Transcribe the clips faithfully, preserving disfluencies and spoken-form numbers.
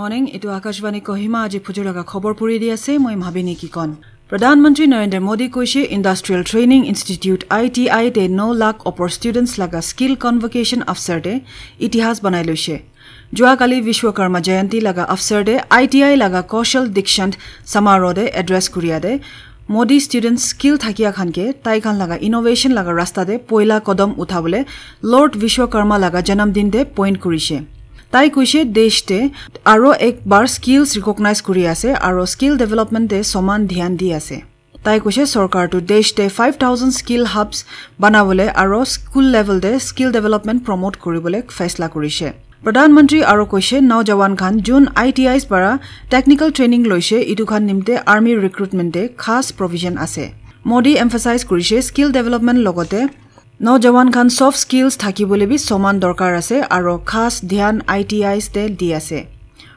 Morning, etu Akashvani Kohima aji phujur laga khobor puri di ase, moi Mhabini Kikon. Pradhan Mantri Narendra Modi koishe Industrial Training Institute I T I te nine lakh opor students laga skill convocation avsar te itihas banai loishe. Jua kali Vishwakarma Jayanti laga avsar te I T I laga Kaushal Dikshant Samaroh te address kuriya te Modi students skill thakia khan ke tai khan laga innovation laga rasta te poila kodam uthabole Lord Vishwakarma laga janam din te point kurishe. Tai koishe desh te aro ek bar skills recognize kuri ase aro skill development te soman dhyan di ase. Tai koishe sorkar tu desh te five thousand skill hubs banabole aro school level te skill development promote kuribole faisla kurishe. Pradhan Mantri aro koishe naujawan khan jun I T Is para technical training loishe, itu khan nimte army recruitment te khas provision ase. Modi emphasize kurishe skill development logote naujawan khan soft skills thakibole bi soman dorkar ase aro khas dhyan I T Is te di ase.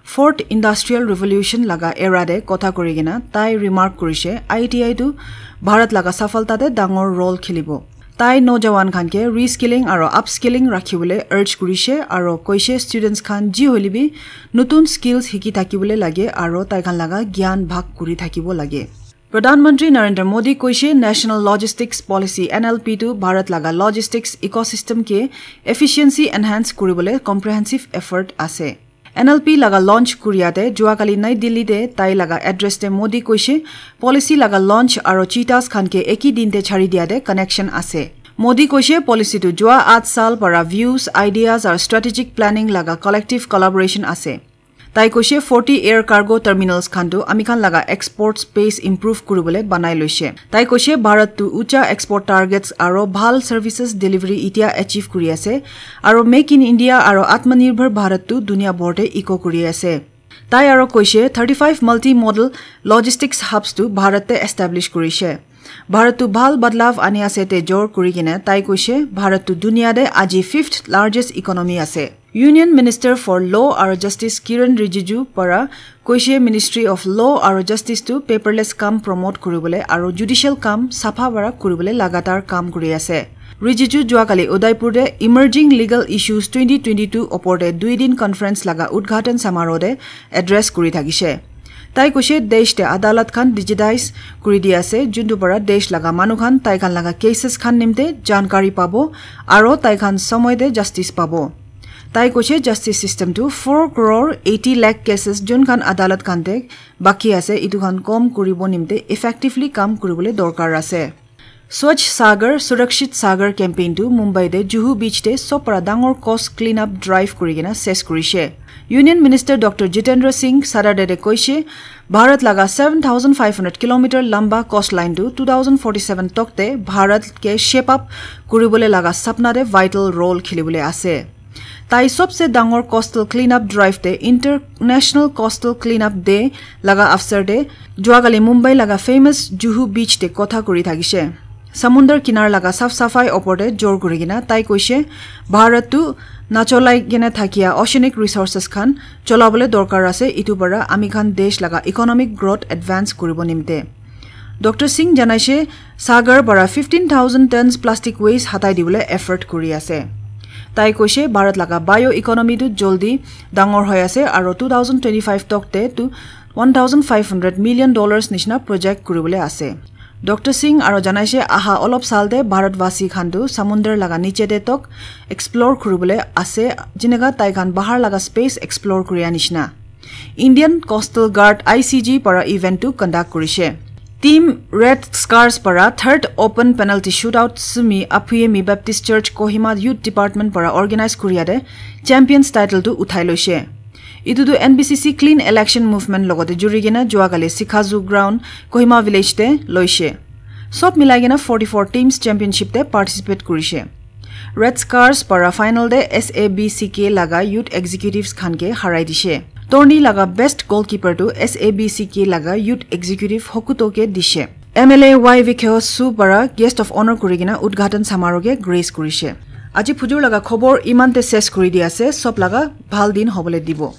Fourth Industrial Revolution laga era te kotha kuri kena tai remark kurishe I T I tu Bharat laga safalta te dangor role khelibo. Tai naujawan khan ke reskilling aro upskilling rakhibole urge kurishe aro koishe students khan ji hoile bi nutun skills hiki thakibole lage aro tai khan laga gyan bhag kuri thakibo lage. Pradhan Mantri Narendra Modi koishe National Logistics Policy N L P tu Bharat laga logistics ecosystem ke efficiency enhance kuribole comprehensive effort ase. N L P laga launch kuriya te jua kali Nai Delhi te tai laga address te Modi koishe policy laga launch aro cheetahs khan ke eki din te chari diya te connection ase. Modi koishe policy tu jua aath saal para views, ideas aro strategic planning laga collective collaboration ase. Tai koishe forty air cargo terminals khan tu ami khan laga export space improve kuribole banai loishe. Tai koishe Bharat tu ucha export targets aro bhal services delivery itia achieve kuri ase aro Make in India aro Atmanirbhar Bharat tu dunia bhor te echo kuri ase. Tai aro koishe thirty-five multi-modal logistics hubs tu Bharat te establish kurishe. Bharat tu bhal badlav ani ase te jor kuri kena tai koishe Bharat tu dunia te aji fifth largest economy ase. Union Minister for Law aro Justice Kiren Rijiju para koishe Ministry of Law aro Justice tu paperless kam promote kuribole aro judicial kam sapha para kuribole lagatar kam kuri ase. Rijiju jua kali Udaipur te Emerging Legal Issues twenty twenty-two opor te dui din conference laga udghatan samaroh te address kuri thakishe. Tai koishe desh te adalat khan digitize kuri di ase, juntu para desh laga manu khan tai khan laga cases khan nimte jankari pabo aro tai khan somoy te justice pabo. Tai koishe justice system tu four crore eighty lakh cases jun khan adalat khan te baki ase, itu khan kom kuribo nimte effectively kam kuribole dorkar ase. Swachh Sagar, Surakshit Sagar campaign tu Mumbai te Juhu beach te sob para dangor coast clean up drive kuri kena ses kurishe. Union Minister Doctor Jitendra Singh Saturday te koishe, Bharat laga seven thousand five hundred kilometer lamba coastline tu two thousand forty-seven tok te Bharat ke shape up kuribole laga sapna te vital role khelibole ase. Tai sobse dangor coastal cleanup drive te International Coastal Cleanup Day laga avsar te jua kali Mumbai laga famous Juhu beach te kotha kuri thakishe. Samundar kinar laga saf safai opor te jor kuri kena tai koishe, Bharat tu nacholai kena thakia oceanic resources khan cholabole dorkar ase, itu para ami khan desh laga economic growth advance kuribo nimte. Doctor Singh janaishe, Sagar para fifteen thousand tons plastic waste hatai dibole effort kuri ase. Tai koishe, Bharat laga bio economy tu joldi dangor hoi ase aro two thousand twenty-five tok te tu one thousand five hundred million dollars nishina project kuribole ase. Doctor Singh aro janaishe aha olop sal te Bharat vasi khan tu samundar laga niche te tok explore kuribole ase, jineka tai khan bahar laga space explore kuriya nishina. Indian Coastal Guard I C G para event tu conduct kurishe. Team Red Scars para third open penalty shootout Sumi Aphuye Mi Baptist Church Kohima Youth Department para organize kuriya te champions title tu uthai loishe. Itu tu N B C C clean election movement logote juri kena jua kali Sikhazu ground Kohima village te loishe. Sob milai kena forty-four teams championship te participate kurishe. Red Scars para final te S A B C K laga youth executives khan ke harai dishe. Tourney laga best goalkeeper tu S A B C K laga youth executive Hokuto ke dishe. M L A Y Vikheos Su para guest of honor kuri kena udghatan samaroh ke grace kurishe. Aji phujur laga khobor iman te ses kuri di ase, sob laga bhal din hobole dibo.